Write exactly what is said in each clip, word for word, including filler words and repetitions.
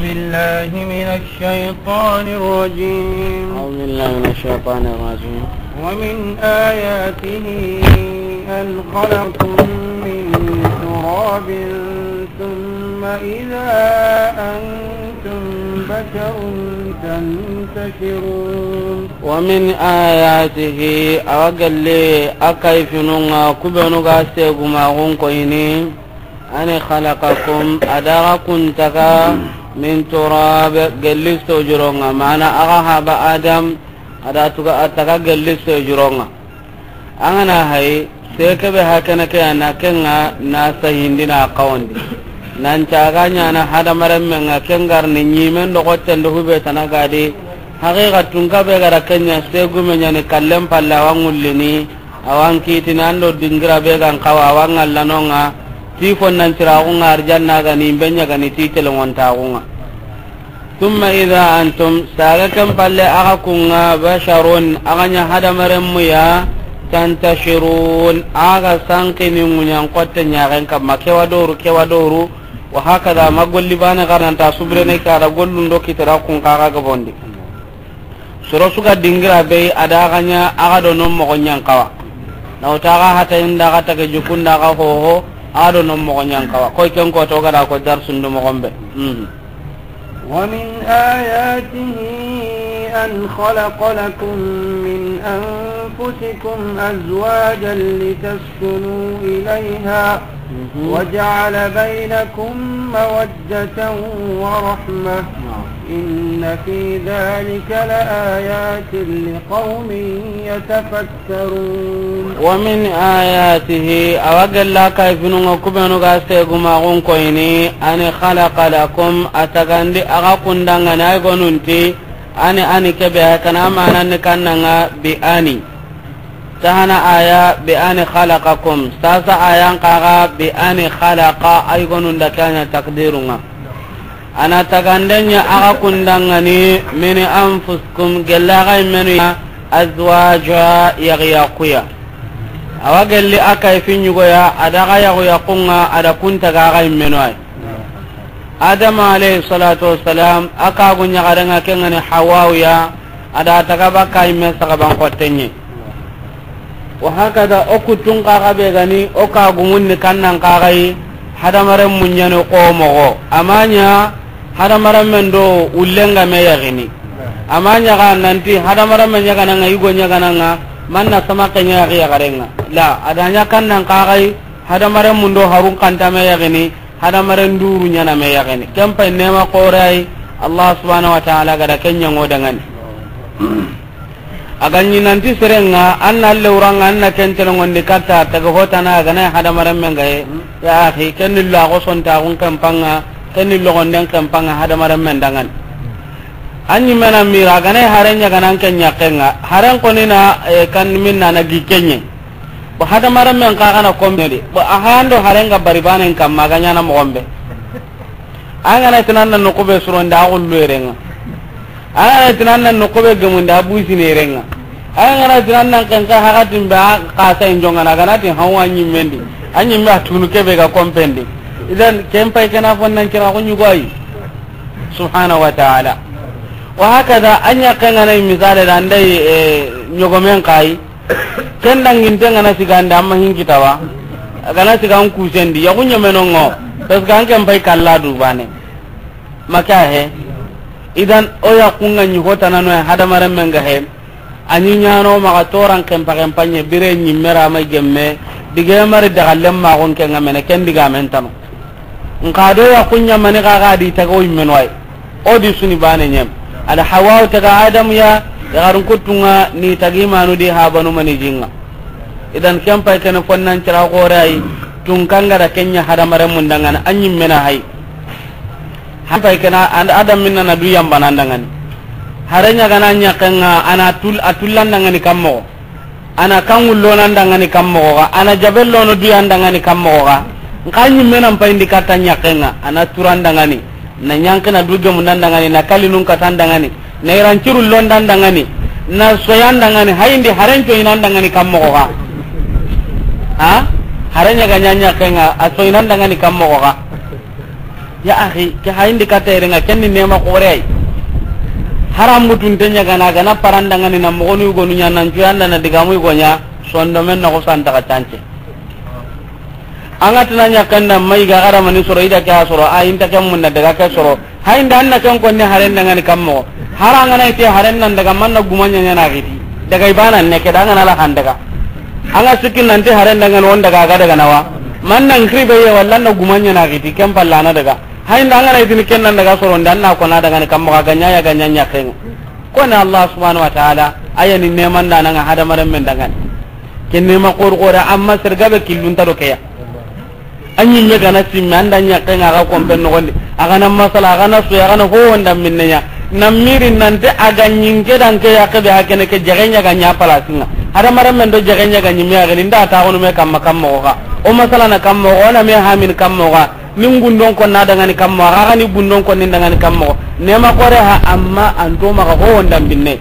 بالله من الشيطان الرجيم. أعوذ بالله من الشيطان الرجيم. ومن آياته أن خلقكم من تراب ثم إذا أنتم بشر تنتشرون. ومن آياته, a wa gelle a kayfinun ŋa, ku benu ga segumaxun koyini, أن خلقكم, a da xa kun taga, من تراب, gelli sojuron ŋa, mana a ga haba Adam, a da tuga a taga gelli sojuron ŋa. An ga na hay, se ke be hakana ke ya na ken ŋa na sayindi na kawandi. Nan caga ɲa na hadamarenmen ŋa ken ga ri ni ɲimen do xotten do hube tana ga di. Haqiqa tun ka be ga ra ken ɲa segume ɲa ni kallen palla wa ŋullini. A wa n kitini an do dingira be ga n xawa a wa n ŋalla no ŋa. Ti fonnan ciraxun ŋa arjanna ga ni be ɲa ga ni ti telengontaxun ŋa. ثم إذا أنتم, saga ken palle a ga kun ŋa, بشر, a ga ɲa hadamarenmu ya, تنتشرون, a ga sankini ŋuɲan xotte ɲaxen kamma, kewa doru, kewa doru, وهكذا, ma golli bane ga ra nanta subirene ke a da gollun do kitira kun xa ga bondi. Soro su ga dingira be, a da ga ɲa, a ga do non moxo ɲan xawa. Na wuta ga hata inda ga tage jukunda ga hoho, a ga do non moxo ɲan xawa. Koy ken ko to ga da ko darsundu moxon be. Mhm. ومن آياته أن خلق لكم من أنفسكم أزواجا لتسكنوا إليها، مهم. وجعل بينكم مودة ورحمة، نعم. إن في ذلك لآيات لقوم يتفكرون. ومن آياته, a wa gella kayfinun ŋa ku benu ga segumaxun koyini, أن خلق لكم, a tagandi a ga kun da ŋa ni, ay gonunti, أن, أن ke be, kana mananni kannan ŋa بأن. Tahana aya بأن خلقكم, sasa ayan xa ga بأن خلق, ay gonun da ke ɲa takdirun ŋa. A na taganden ɲa a ga kun da ŋa ni من أنفسكم, gella xa yimmenu ya, أزواجا, yaxuyaqu ya. A wa gelli a kayfin ɲugo ya, a da ga yaxuyaqun ŋa, a da kun taga xa yimmenu ay. Adama alayhi salatu wassalam, a kagu ɲaxaren ŋa ken ŋa ni Hawau ya, a da taga bakka yimme saxaban xotten ɲi. Wa hakada, o kuttun xa ga be ga ni, o kagumun ni kannan xa ga yi, hadamarenmun ɲa ni xo moxo. A ma ɲa hadamarenmen do wullen ga me yaxini. A ma ɲa ga nanti hadamarenmen ɲaxana ŋa, yigo ɲaxana ŋa, manna sama ke ɲa yaxi yaxaren ŋa. La, a da ɲa kannan xa ga yi, hadamarenmun do harun kanta me yaxini, hadamaren duru ɲa na me yaxini. Ken pay nema xoore ay, Allah subhanahu wa ta'ala ga da ken ɲa ŋo da ŋa ni. A ga ɲi nanti seren ŋa, an na lewran ŋa, an na ken telengondi katta, taga hotana, a ga na hadamarenmen ga ye. Ya axi, ken ni lo a xo sontaxun ken pa ŋa, ken ni loxonden ken pa ŋa hadamarenmen da ŋa ni. An ɲi me na mira, a ga na haren ɲa ga na an ken ɲaxen ŋa, haren xo ni na, eh, kan minna na gi ken ɲe. Bo hadamarenmen xa ga na komedi. Bo a hando haren ga bari banen kamma ga ɲa na moxon be. An ga na ti nan na noqu be surondi a xullu yere ŋa. An ga na ti nan na noqu be gemundi a busini yere ŋa. An ga na ti nan na ken xa hakatin be a xasa in jongana, a ga na ti hawa ɲimmendi. A ɲimme a tunu ke be ga kompendi. Idan ken pay ke na fonnan kira ko ɲugo ayi. Subhanahu wa ta'ala. Wa hakada, an ɲa ken ga na misale da ndai, eh, ɲogomen xa yi. Ken danginten ga na sigandi, amma hin kita wa. A ga na sigan kusendi, yaxu ɲemenongo. Parce que an ken pay kalla du bane. Maka he. Idan, o yaxun ga ɲi hotanano ya hadamarenmen ga he. A ɲi ɲano maxa toran kempa kempa ɲe, bire ɲimme ra ma gemme. Dige mari daga lemma gon ken ga mene, ken diga men tano. Nka do yaxun ɲa mani xa ga di taga o yimmeno ay. O di suni bane ɲem. Ada Hawa taga Adam ya, ya garun kutunga ni tagi manu di ha banu mani jinga. Idan ken pay ken fonnan cira gore ay, tun kanga da ken ɲa hadamarenmun da ŋa na a ɲimme na hay. Han pay ken a, and Adam minna na du yamba nan da ŋa ni. Hare ɲa ga na ɲa ken ŋa, a na tul, a tullan da ŋa ni kammo. A na kan wullo nan da ŋa ni kammo ga, a na jabello no du yan da ŋa ni kammo ga. Nka ɲimme nan pay ndi katta ɲa ken ŋa, a na turan da ŋa ni. Na ɲanki na du gemu nan da ŋa ni, na kalinun katan da ŋa ni. Na iran ciru lon dan da ŋa ni. Na soyan da ŋa ni, hayindi haren coyinan da ŋa ni kammo ga. Ha? Hare ɲa ga ɲa ɲa ken ŋa, a soyinan da ŋa ni kammo ga. Ya axi, ke hayindi katta yere ŋa, ken ni nema xoore yi. Haramutun te ɲa gana, gana parandangani na moxonu yugonu ɲa, nan cuyanda na digamu yugo ɲa, sondomen na xosantaxa cance. An ga tana ɲaxen da ma yiga xaramani soro, i da ke a soro, a inta ken munda daga ke soro. Hayinda an na ken konni haren dangani kan moxo. Hari an ga na ite haren nan daga, man na guma ɲaɲa na xiti. Daga i bana ne ke da an ga na la han daga. An ga sikki nanti haren dangani on daga, a ga daga na wa. Man nan xiri be ye walla na guma ɲa na xiti, ken palla na daga. Hayinda an ga na itini ken nan daga soro, nda an na kona dangani kan moxo, a ga ɲa ya ga ɲa ɲaxen ŋa. Koni Allah subhanahu wa ta'ala, a ya ni neman da nan ŋa hadamaren men dangani. Ken nema xor xore, amma sere gabe killun ta do ke ya. A ɲimme gana simme, an da ɲaxen ŋa ga kompen noxondi. A gana masala, a gana soya, a gana ho wonda minne ɲa. Na miri nanti a ga ɲinke dan ke ya ke be, ha kene ke jege ɲa ga ɲa palasin ŋa. Hadamaren men do jege ɲa ga ɲimme ya gani, nda ta xonu me kamma kamma xa. O masala na kamma xa, o na me hamin kamma xa. Ni gundon konna dangani kamma xa, xa ni gundon konni dangani kamma xa. Nema xoore ha, amma an to maxa ho wonda minne.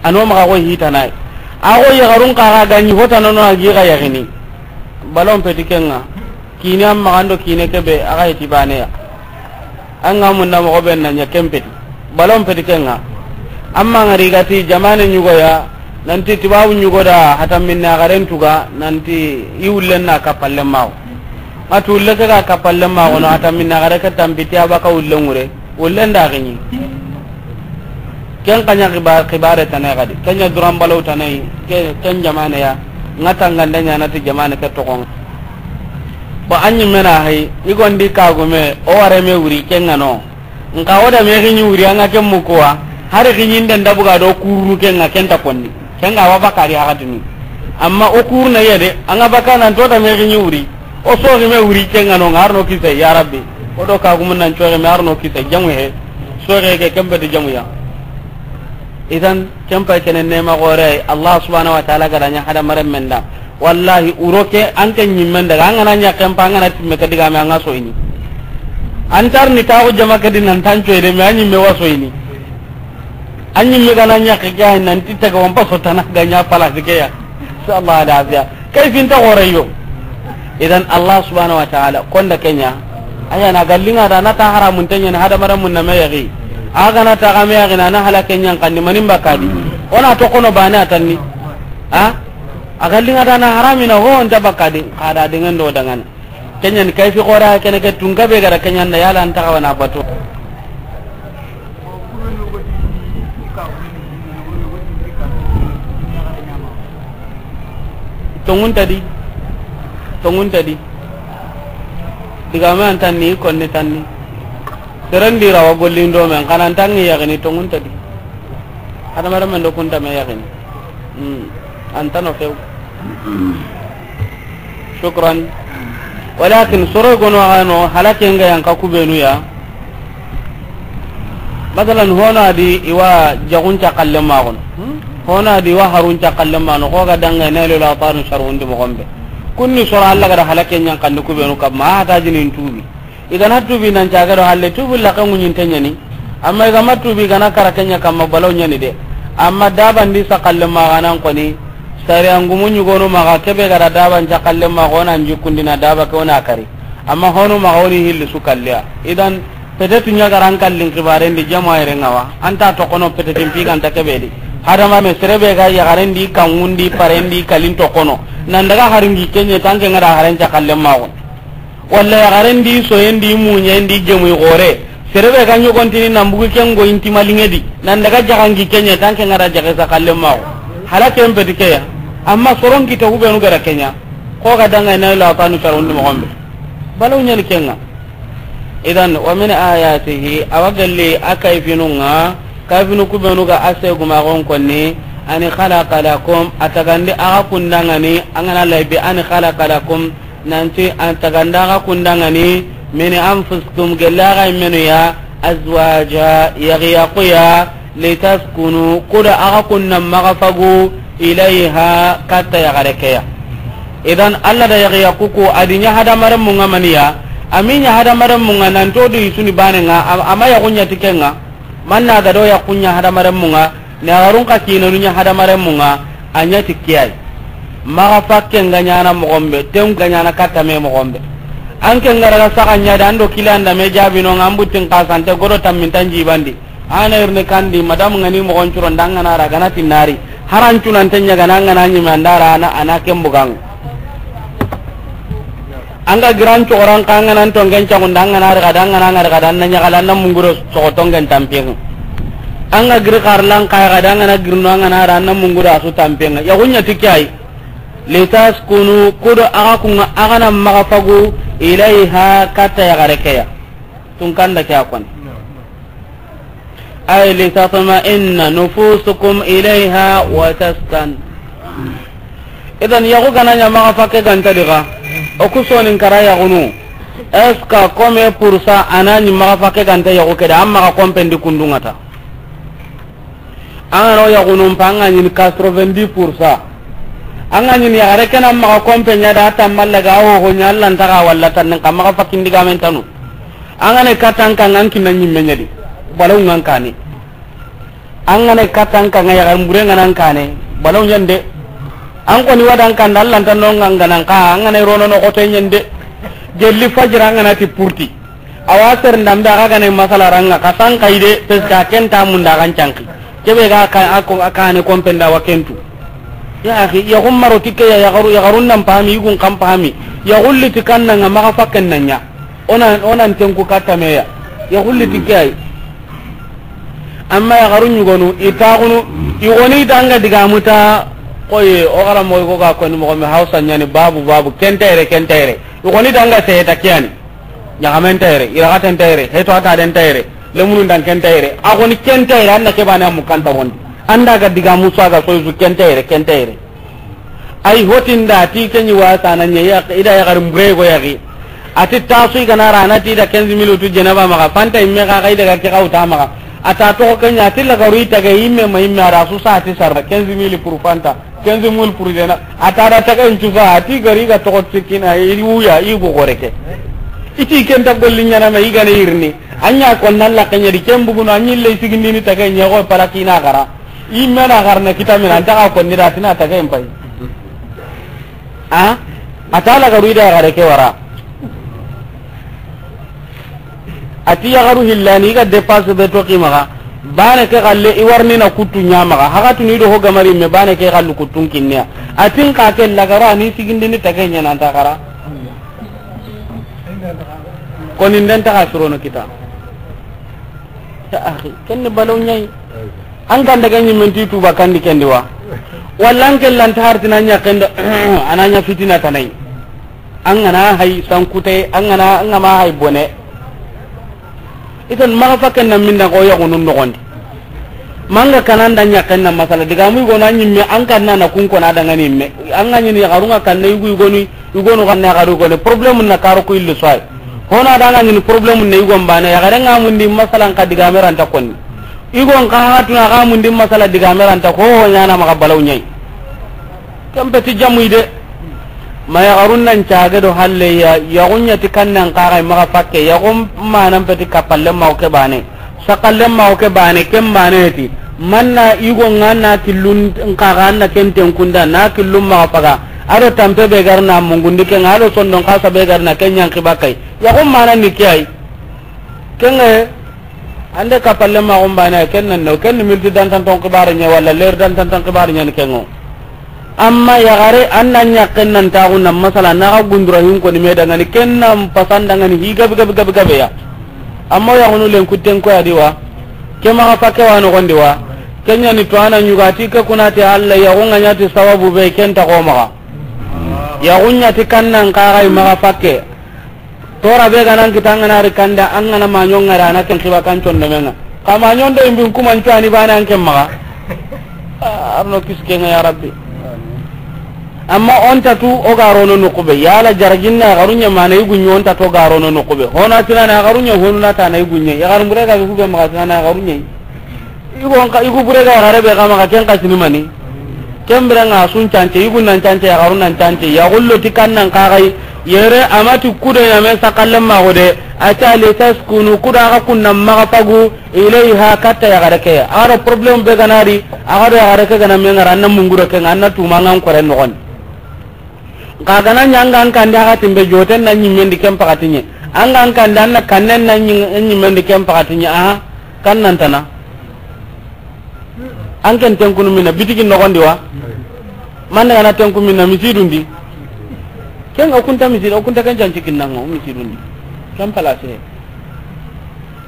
Ano maxa ko hitanayi. A ko yaxarun xa ga ɲi hotana no a gi ga yaxini. Balon peti ken ŋa. Kine an maxa ndo kine ke be a ga heti bane ya. An ga munda moxo be na ɲa ken peti. Balon peti ken ŋa. Amma ŋari gati jamane ɲugo ya, nanti tibabu ɲugo da hata minna garen tuga, nanti i wullen na kapalle mawo. A tulle ke ga kapalle mawo no, hata minna gare ke tampiti a baka wullen ŋure. Wullen da gini. Ken kanya xiba-, xibare tane gadi. Kenya duran balaw tane, ke-, ken jamane ya. Nga tanganda ɲa na ti jamane ke toxon. Ba anyi mena hay, i gondi kagume, o ware me wuri ken ŋa no. Nka o da me gini wuri an ga ken mukuwa. Hari gini nden da buga do kurunu ken ŋa, ken ta konni. Ken ga wa bakari hagatini. Amma o kuruna yede, an ga baka nan to da me gini wuri. O soxi me wuri ken ŋa no, ŋa har no kisa, ya Rabbi. O do kagumun nan soxi me har no kisa, jamu he. Soxe ke ken peti jamu ya. Idan, ken pay kene nema xoore, Allah subhanahu wa ta'ala ga da ɲa hadamaren men da. Wallahi, wuro ke, an ke ɲimmen daga, an ga na ɲa ken pa, an ga na timme ke digame, an ga soyini. An tar ni taxu jama ke di nan tan coyde, me an ɲimme wa soyini. An ɲimme ga na ɲa ke ke, ay nan ti taga won pa sotana ga ɲa palasi ke ya. Inshallah, ala afiya. Kay finta xoore yo. Idan Allah subhanahu wa ta'ala konda kenya. Aya na gallinga da na ta haramun tanya na hadamaren mun na me yagi. Aga na ta ga me yagi na, na hala kenya kan ni manin bakadi. Ona to kono bane atanni. Ha? A gallinga da na haramina ho on ta bakadi. Kada dengan do dangan. Kenya ni kayfi xoore kene ke tunga be gara kenya nda yala an ta ga wana bato. Tongun tadi. Tongun tadi. Digame an tanni, konni tanni. Seren di rawa gollindo men, xana an tangi yaxini tongun tadi. Hadamaren men do kunta me yaxini. Hmm. An tano few. Shukran. Walakin soro gono ano halake nga yanka kubenu ya. Masalan, hono adi iwa jagun cakalle magono. Hono adi iwa harun cakalle mano. Ko ga danga ne lo la tanu sharun di mogombe. Kunni soro Allah ga da halake nyan kan kubenu kamma hata jinin tubi. I ga na tubi nan caga do halle tubi la kan ŋuɲinte ɲani. Amma i ga ma tubi, i ga na kara ke ɲa kamma balaw ɲani de. Amma daban di sakalle maxa nan koni. Sariya ngumu ɲugonu maxa kebe ga da daban cakalle maxa, o na n jikkundi na daba ke o na kari. Amma honu maxa o ni hilli su kalliya. Idan, petetu ɲa ga ra an kallin xibaren di jama yere ŋa wa. An ta toxono petetin pi ganta kebe di. Hadama me sere be ga yaxaren di, kanŋun di, paren di, kalin toxono. Nan daga haringi ke ɲe tanke ŋa da haren cakalle maxa. Walla yaxaren di, soyen di, muɲen di, jemuy xore. Sere be ga ɲogontini nan bugu ken go inti maliŋe di. Nan daga jaxangi ke ɲe tanke ŋa da jaxe sakalle maxo. Hala ken peti ke ya. Amma soron kita kubenu ga da ke ɲa. Ko ga danga na la tanu sharun di mogombe. Balaw ɲani ke ŋa. Idan, wa min ayatihi, awa galli a kayfinu ŋa, kayfinu kubenu ga a segumaxon konni, ani khalaqa lakum, a tagandi axa kundangani, an ga na lay bi ani khalaqa lakum, nanti an tagandi axa kundangani, min anfusikum, gella axa immenu ya, azwaja, yaxiyaxu ya, litaskunu, kuda axa kunna maxa fagu, ilayha, katta yaxare ke ya. Idan, Allah da yaxiyaxu ku, a di ɲa hadamaren mun ŋa maniya, a mi ɲa hadamaren mun ŋa, nanto du isuni bane ŋa, am-, ama yaxu ɲa ti ke ŋa, manna ga do yaxu ɲa hadamaren mun ŋa, na yaxarun xa kinanu ɲa hadamaren mun ŋa, a ɲa ti ke ya yi. Maxa fakke nga ɲana mogombe, ten nga ɲana katta me mogombe. An ke ŋa ra ga saxa ɲa da, an do kila an da me jaabi no ŋa, an buttin xasante godo tammintan jibandi. Ana irni kandi, madam ŋa ni moxon curon da, an ga na ra ga na ti nari. Haran cunan te ɲa ga na, an ga na ɲi me an da ra, ana, ana ken bugan. An ga giran cogoran ka, an ga na tongen cagun da, an ga na ri ga da, an ga na ŋa ri ga da, an na ɲa ga la, an na munguro soxo tongen tampiyen. An ga giri xarlan ka ga da, an ga na girno, an ga na ra, an na munguro a su tampiyen. Ya gunya ti ke yi. Litaskunu, kudo a ga kun ŋa, a ga na maxa fagu, ilayha, katta yaxare ke ya. Tun kanda ke a koni. Ay litatma'inna nufusukum ilayha wa taskan. Idan yaxu ga na ɲa maxa fakke ga nta diga. O ku sonin kara yaxunu. Est-ce que comme pour ça, a na ɲi maxa fakke ga nta yaxu ke da, an maxa kompen di kundu ŋa ta. An ga na o yaxunun pa, an ga ɲini quatre-vingt-dix pour cent. An ga ɲini yaxare ke na maxa kompe ɲa da, a tammalle ga, a hoho ɲa, Alla nta ga walla tannin ka maxa fakkindi ga men tanu. An ga na katta an ka ŋa, an kinna ɲimme ɲa di. Balaw ŋa an kane. An ga na katta an ka ŋa, yaxare mbure ŋa na an kane. Balaw ɲa nde. An koni wa da an kanda, Alla nta no ŋa an ga na an ka, an ga na rono no xote ɲa nde. Gelli fajira an ga na ti purti. Awa seren da mbe a ga gane masala ra ŋa, xa san xa yi de, parce que a ken ta munda ga n canki. Kebe ga ka, a ko, a kane kompen da wa ken tu. Ya axi, yaxun maro ti ke ya, yaxaru, yaxarun nan pami, yugun kan pami. Yaxulli ti kanna ŋa maxa fakken na ɲa. O na, o na n tenku katta me ya. Yaxulli ti ke yi. Amma yaxarun ɲugonu, i taxunu, i goni danga digamu ta, koyi, o xara moxo ko ga koni moxo me Hausa ɲa ni babu, babu, ken ta yere, ken ta yere. I goni danga seheta ke ya ni. Ɲaxamen ta yere, iraxaten ta yere, heto a taden ta yere, lemunun dan ken ta yere. A goni ken ta yere, an na ke bane a mukan ta wondi. An da ga digamu su a ga soyi su ken ta yere, ken ta yere. Ay hotinda ti ke ɲi wasa na ɲa ya, i da yaxari mbure go yaxi. A ti tasu i ga na ra na ti da quinze mille tu jenaba maxa, fanta imme xa, xa i daga ke xa wuta maxa. A ta toxo ke ɲa, a ti lagaru i tage imme ma imme a ra su sa ti sarra quinze mille pour fanta. Quinze mille pour jenaba. A ta da taga in cusa, a ti gari ga toxo sikina, i wuya, i go gore ke. I ti ken ta golli ɲana ma, i ga ne yirni. A ɲa ko nan la ke ɲa di, ken bugunu, a ɲi le sigindini taga ɲa go palakina gara. I mena garna kita mena, an ta ga ko ni da tina taga in pay. A? A ta lagaru i da gare ke wara. A ti yaxaru hillani, i ga dépasse be toxi maxa. Bane ke xalle, i warni na kuttu ɲa maxa. Haxatunu i do ho gamari me, bane ke xallu kuttun kinneya. A ti n xa ke lagara, a ni sigindini take ɲa nan ta xara. Koni nden ta xa surono kita. Ya axi, ken ni balaw ɲa yi. An kan daga ɲimmen ti tuba kandi ken di wa. Walla an ke lanta hartina ɲa ken do, a na ɲa fitina tanai. An ga na hay sankute, an ga na, an ga ma hay bone. Itan maxa fakken na minda ko yaxunun noxondi. Manga kanan da ɲaken na masala. Digamu i go na ɲimme, an kan na na kun kona dangani me. An ga ɲini yaxarun ŋa kanne yugu yugonu, yugonu kanne yaxaru yugonu. Problème na karo ko illu soy. Hona da ga ɲini problème ne yugon bane. Yaxare ŋa mundi masala n ka digame ranta konni. Yugon ka hatuna ga mundi masala digame ranta ko ho ɲana maxa balaw ɲa yi. Ken peti jamuy de. Ma yaxarun nan cage do halle ya, yaxun ɲa ti kannan kaxay maxa fakke, yaxun manan peti kappalle ma o ke bane. Sakalle ma o ke bane, ken bane ti. Manna yugo ŋa na killun kaxa na ken tenkunda, na killun maxa faga. A do tampe be garna mungundi ken, a do sondon kasa be garna ken ɲan xibakay. Yaxun manan ni ke ay. Ken ŋa, ande kappalle ma o ke bane, ken nan no, ken ni milti dantan ton xibare ɲa, walla ler dantan ton xibare ɲa ni ken ŋo. Amma yaxare, an na ɲaken nan taxu nan masala, na xa gundura hin koni me dangani, ken nan pasan dangani, hi gabe, gabe, gabe, gabe ya. Amma yaxunu len kutten ko ya di wa, ke maxa fakke wa noxondi wa, ken ɲa ni to a na ɲuga ti ke kuna ti Alla, yaxun ŋa ɲa ti sababu be, ken ta ko maxa. Yaxun ɲa ti kannan kaxay maxa fakke. Tora be ga nan kita an ga na ri kanda, an ga na maɲon ŋa ra na ken xiba kan condomen ŋa. Xa maɲon do imbin kuman cuani bane an ken maxa. Ah, arno kiske ŋa ya Rabbi. Amma on tatu o ga rono noxu be. Yala jarajinna yaxarun ɲa mana yugu ɲa on tatu o ga rono noxu be. Hona tinana yaxarun ɲa, honu na tana yugu ɲa. Yaxarun bure ga be hube maxa tinana yaxarun ɲa. Yugo nka, yugo bure ga yaxare be xa maxa ken xa sini mani. Ken bire ŋa sun cance, yugo nan cance, yaxaru nan cance. Yaxullo ti kannan kaxay. Yere a ma ti kudo ɲa me sakalle ma xo de. A ta li taskunu, kuda xa kunna maxa fagu. Ilayha, katta yaxare ke. A do problème be ga na ri, a do yaxare ke ga na me ŋa ra, an na munguro ke ŋa, an na tuma ŋa n kore noxon. Xa gana ɲa an ga an kandi a xatin be joten na ɲimmen di ken pakati ɲe. An ga an kandi an na kannen na ɲi-, ɲimmen di ken pakati ɲe. Aha, kan nan tana. An ken tenkunu minna bitigi noxon di wa. Man daga na tenku minna misidun di. Ken o kunta misidi, o kunta ken janci kinnan ŋa o misidun di. Ken place.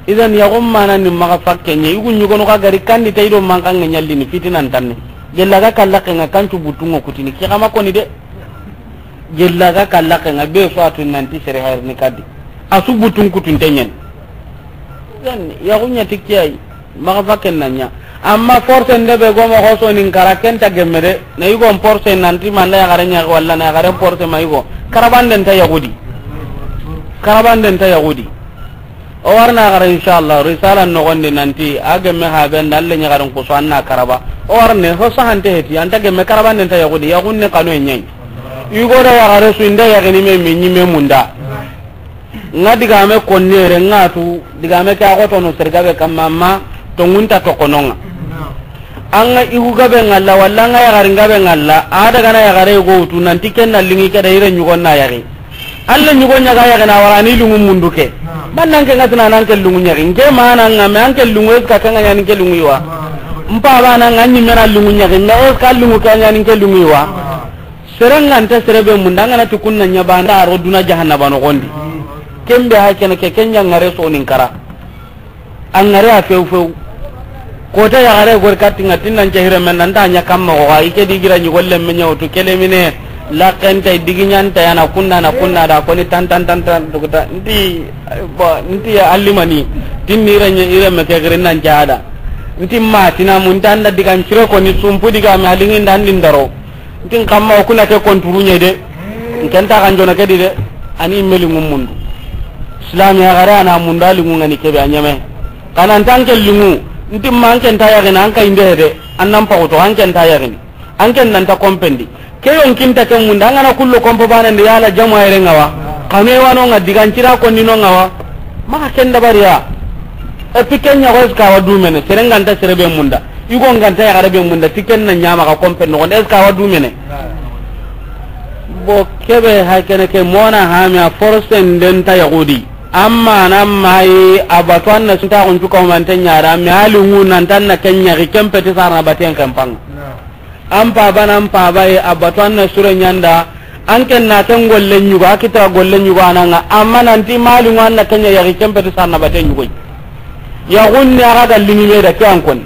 Idan yaxun mana ni maxa fakke ɲe, yugu ɲugono xa gari kandi ta i do mankan ŋa ɲallini fitinan tanne. Gella ga kallaxe ŋa kancu butun ŋa kutini, ki xama koni de. Gella ga kallaxe ŋa be so a tu nanti sere hayrini kadi. A su butun kutunte ɲen. Idan yaxu ɲa ti ke yi, maxa fakken na ɲa. Amma force nde be go moxo so nin kara ken ta gemme de. Na yugon force nanti manda yaxare ɲa walla na yaxaren force ma yugo. Karabanden ta yaxudi. Karabanden ta yaxudi. O warna xara, inshallah, risala noxon di nanti a gemme haben da alle ɲaxarin kuso an na karaba. O warne ho sahante heti, an ta gemme karabanden ta yaxudi, yaxun ne kanu e ɲayi. Yugo da yaxare su inda yaxini me mi ɲime munda. Ŋa digame konnere ŋa tu, digame ke a xotono sergabe kamma, amma tonŋun ta tokono ŋa. An ga yugu gabe ŋalla, walla an ga yaxarin gabe ŋalla, a daga na yaxare go wutu, nanti ken na liŋi ke da yire ɲugon na yaxi. Alla ɲugo ɲaga yaxi na wara ni liŋu mundu ke. Bannan ke ŋa tina nan ke liŋu ɲaxi. Nke mana ŋa me an ke liŋu eska ke ŋa ɲani ke liŋu yi wa. Mpa bana ŋa ɲi mena liŋu ɲaxi, me eska liŋu ke ɲani ke liŋu yi wa. Sere ŋa nta sere be munda ŋa na ti kunna ɲa banda ro duna jahannaba noxon di. Ken be ha kene ke ken ɲa ŋare so nin kara. A ŋari a few few. Kota yaxare gori katti ŋa tinnan cehire men nan ta ɲa kamma ko xa i ke di gira ɲi golle me ɲa wutu kele mine. Laxenta digi ɲanta yana kunna na kunna da koni tan tan tan tan duguta. Nti, bo, nti ya allimani. Tinni ire ɲe ire me ke giri nan jada. Nti ma tina mun tan da digan cire koni sumpu diga me alingi ndan din daro. Ntin kamma o kuna ke konturu ɲe de. Nken ta kan jona ke di de. Ani meli ŋum mundu. Islam ya gare ana munda liŋu ŋa ni kebe a ɲeme. Kana ntan ke liŋu. Ntin ma an ken ta yaxini an ka inde de. An nan paxuto an ken ta yaxini. An ken nan ta kompendi. Ke yon kinta ke munda an ga na kullo kompo bana ndi yala jama yere ŋa wa. Kame wano ŋa digan cira konni no ŋa wa. Maxa ken dabariya. Et puis ken ɲa ko eska wa dumene sere ŋa nta sere be munda. Yugo ŋa nta yaxare be munda ti ken na ɲama xa kompe noxon de eska wa dumene. Bo kebe ha kene ke mona ha me a force nden ta yaxudi. Amma na mayi a batu an na sunta xun cuka humante ɲara me a liŋu nan tan na ken ɲaxi ken peti sarna baten ken panga. An paba nan paba ye a batu an na sure ɲanda. An ken na ken golle ɲugo a kitira golle ɲugo a na ŋa amma nanti ma liŋu an na ken ɲa yaxi ken peti sarna baten ɲugoy. Yaxunni a ga ga liŋi me da ke an koni.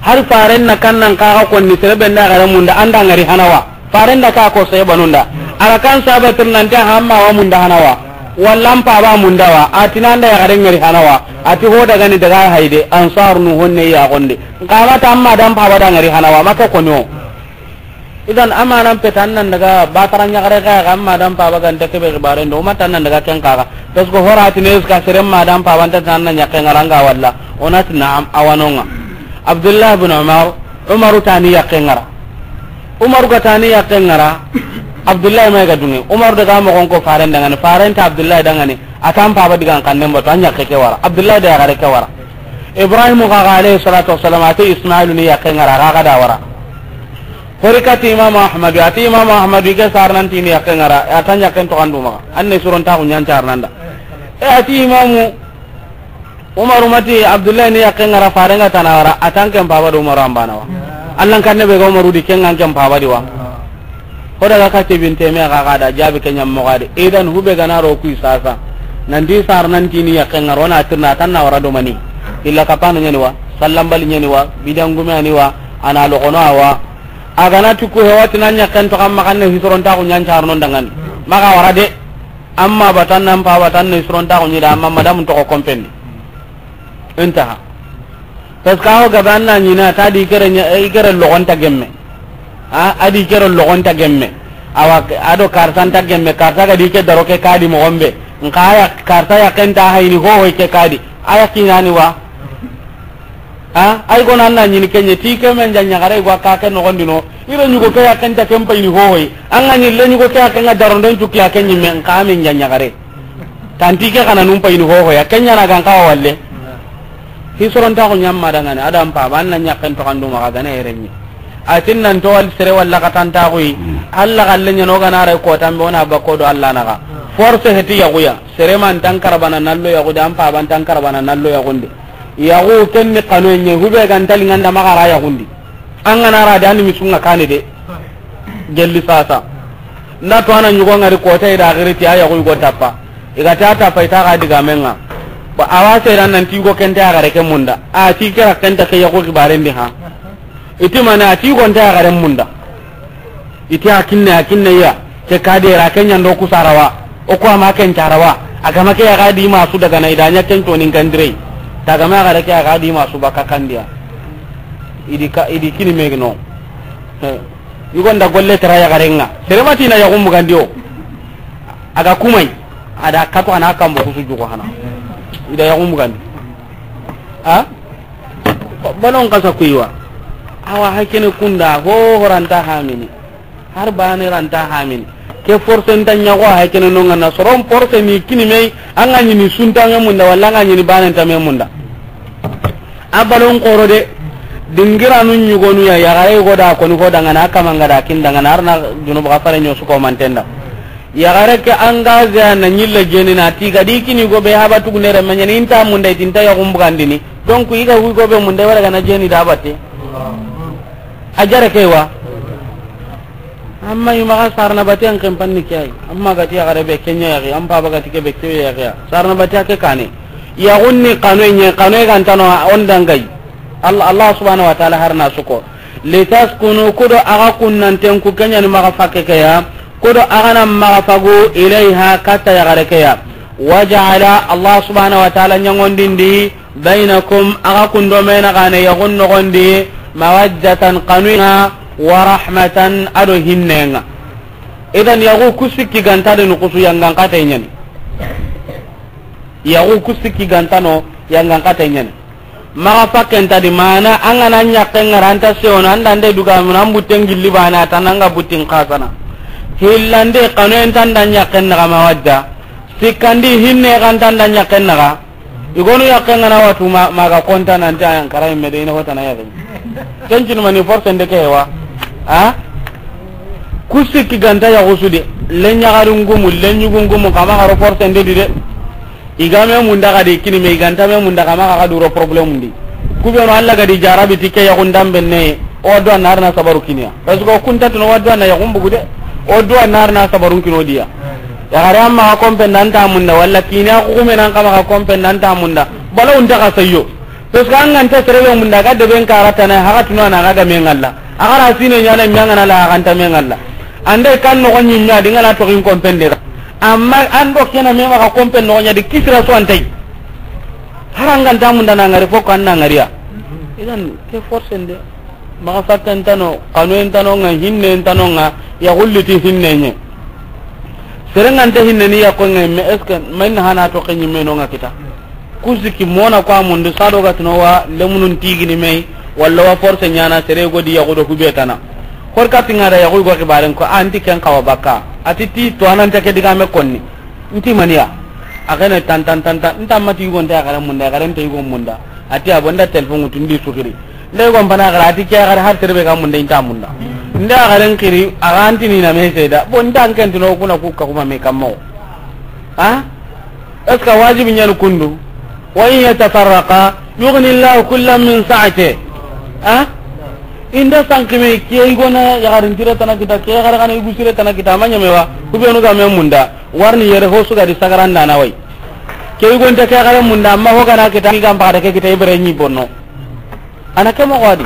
Har faren na kan nan kaxa konni sere be nda yaxare munda an da ŋari hanawa. Faren da ka ko sey banunda. A ra kan sabatir nan ta hamma wa munda hanawa. Walla an paba munda wa. A ti nan da yaxare ŋari hanawa. A ti ho daga ni daga hayde ansar nu honne ya gonde. Nkama ta amma dan paba da ŋari hanawa maka kono. Idan amanan petan nan daga batara ɲaxare ga ga amma dan paba ganta kebe xibaren do matan nan daga ken kaga. Parce que hora tine eska sere ma dan paba nta tan nan ɲaxe ŋaranga walla. Onati na'am awanonga. Abdullah bin Umar, Umaru tani yaxe ŋara. Umaru ga tani yaxe ŋara. Abdullah ma ga dunge. Umaru daga mo gonko faren dangani, faren ta Abdullah dangani. Atan paba digan kannen bato an yaxe ke wara. Abdullah da yaxare ke wara. Ibrahim ga ga alayhi salatu wassalam ate Ismailu ni yaxe ŋara ga ga da wara. Hori kati Imam Ahmadu, ati Imam Ahmadu ke sarnan tini yaxe ŋara, atan yaxe to kandu maxa. Anne suron ta ku ɲan carnanda. E ati Imamu Umaru mati Abdullahi ni yaxe ŋara faren ga tana wara, atan ken paba do Umaru ambana wa. Allan kanne be ga Umaru di ken ŋa ken paba di wa. Ho daga kati binte me ga ga da jabi ken ɲam mo ga de. Idan hube ga na ro ku sasa. Nan di sarnan tini yaxe ŋara na tirna tan na wara do mani. Illa kapano ɲani wa, sallambali ɲani wa, bidangume ani wa, ana logono awa. A ga na ti ku hewati nan ɲaxen to kamma kanne hisurontaxu ɲancarnon dangani. Maxa wara de. Amma batan nan pa batan ne hisurontaxu ɲi da amma madamu toxo kompendi. Intaha. Parce que awo gabe an na ɲina ta di kere ɲa, i kere logonta gemme. A, a di kere logonta gemme. Awa, a do karta nta gemme, karta ga di ke daro ke kadi moxon be. Nka aya, karta yaxen ta hayni hohoy ke kadi. Aya kinani wa. Ha, ay gona an na ɲini kenɲe ti ke men ja ɲaxare gwa ka ke noxondi no. Ire ɲugo ke yaxen ta ken payini hohoy. An ga ɲi le ɲugo ke yaxen ga daronden cukki ya ke ɲimme nka men ja ɲaxare. Tanti ke xana num payini hohoy ya ke ɲana gan kawa walle. Hi sorontaxu ɲamma dangani adam pa ba an na ɲaxen to kandu maxa gana yere ɲi. A tin nan to wal sere walla ka tan ta xuyi. Alla galle ɲa no ga na ray ko tambe o na ba ko do Alla na ga. Force heti yaxuya. Sere man tan karabana nallo yaxu de, an pa ban tan karabana nallo yaxunde. Yaxu ken ni kanu ɲe, hube gan tali nganda magara yaxundi. An ga na ra de, an ni misunga kane de. Gelli sasa. Nda to a na ɲugo ngari kota i da giri ti a yaxu i go tappa. I ga ta tappa i ta ga diga menga. Ba a wa sere nan ti go kenta ya gare ke munda. A ti kera kenta ke yaxu xibarendi ha. I ti mane a ti go nta ya gare munda. I ti a kinne, a kinne ya. Ke ka de ra ke ɲa ndo ku sarawa. O ko a ma ken carawa. A ga ma ke ya ga di ma su daga na i da ɲa ken to nin kandire. Ta ga ma gare ke ya ga di ma su baka kandiya. I di ka, i di kini megno. He. I go nda golle tara ya gare nga. Sere ma ti na yaxu mbugandi o. A ga kumai. A da katu a na kambo kusu jugo hana. I da yaxu mbugandi. Ha? Balon kasa kuiwa. Awa hakene kunda ho ho ranta hamini. Har bane ranta hamini. Ke force nta ɲago hakene no ngana soron force ni kini mei, an ga ɲini sunta me munda walla an ga ɲini bane nta me munda. A balon koro de. Dingiranu ɲugonu ya, yaxare go da koni ho dangana, a kamanga da kin dangana, arna junubu ga fare ɲo su ko mantenda. Yaxare ke engagé a na ɲille jeni na ti ga di kini go be haba tugu ne re ma ɲani inta munda i ti nta yaxu mbugandini. Donc i ga wi go be munda wara ga na jeni da batte. A jare ke wa. Amma i maxa sarana bate an ken panni ke ay. Amma ga ti yaxare be ke ɲa yaxi, an pa ba ga ti ke be ke yaxi. Sarana bate ke kane. Yaxun ni kanu ɲe, kanu ga ntano on dangai. Allah, Allah subhanahu wa ta'ala harna suko. Litaskunu, kudo aga kunnanten ku kenyani maxa fakke ke ya, kudo aga na maxa fagu ilayha katta yaxare ke ya. Waja'ala, Allah subhanahu wa ta'ala ɲangondindi, bainakum, aga kundo mena gane yaxun nogondi, mawaddatan, kanuya, wa rahmatan, ado hinnenga. Idan yaxu ku sikki ganta de nukusu yangan kata ɲani. Yaxu ku sikki gantano yangan kata ɲani. Maxa fakkenta di mana an ga na ɲakken ŋara an ta sewono an dande duga mun an butten gilli bana tan an ga buttin xasana. Hillande kanu en tan da ɲakken naxa mawadda. Sikkandi hinne kan tan da ɲakken naxa. I gonu yakken ŋana watu ma, maga konta nanti ayan kara imme de ina hotana yaxe. Ken cinu mani force nde ke wa. Ha? Ku sikki ganta yaxu su de. Le ɲaxari ngumu, le ɲugu ngumu, kama xaro force nde di de. I ga me munda ga de kini me, i ganta me munda kama ga duro problème ndi. Ku be no Alla ga di jarabi ti ke yaxun dambe ne, o do na arna sabaru kiniya. Parce que o kunta tino wa do na yaxun bugu de. O do na arna sabarun kino diya. Yaxare amma ga kompe ndanta munda, walla kiniya ku kume nan kama ga kompe ndanta munda. Bala unta ga sayo. Parce que an ga nta sere be munda ga de ben karata na haga tino na ga me ngalla. A ga ra sine ɲana me ngana la ga nta me ngalla. Ande kan no gonyi nya di ngana to kin kompe nde. Amma an do kena me maxa kompe no ɲa di kisira so antai. Haranga nta munda na ŋari fo kan na ŋariya. Idan ke force nde. Maxa fatten tano, kanu en tano nga, hinne en tano nga, ya gulli ti hinne nye. Serenga nta hinne ni ya ko nga, mais est-ce que mayna hana to kenyi me no nga kita? Kusiki mona kwa mundu sado ga tino wa lemunun tigini me, walla wa force nyana sere go di ya go do hubetana. Hor ka tinga da ya go go kibaren ko anti ken kawa baka. Ati ti to anan take diga me konni. Nti maniya. A gane tan tan tan tan. Nta mati yugo nta ya gare munda, ya gare nta yugo munda. Ati abonda telefon tundi sukiri. Nda yugo mpana gara ati ke gara har terbe ga munda inta munda. Nda gare nkiri a ga anti ni na me seda. Bon nda nken tino kuna ku ka kuma me kammo. Ha? Est-ce que wajibi nyan kundu? Wa in yatafarraqa yughni Allahu kullam min sa'ati. Ha? Inda sankime ke igona ya garin tire tana kita, ke gara kana igu sire tana kita, manya mewa. Kubenu ga me munda. Warni yere ho suga di sagaranda na wai. Ke yugo nta ke gare munda, amma ho gana kita ni gamba da ke kita ibere ni bonno. Ana ke mo wadi.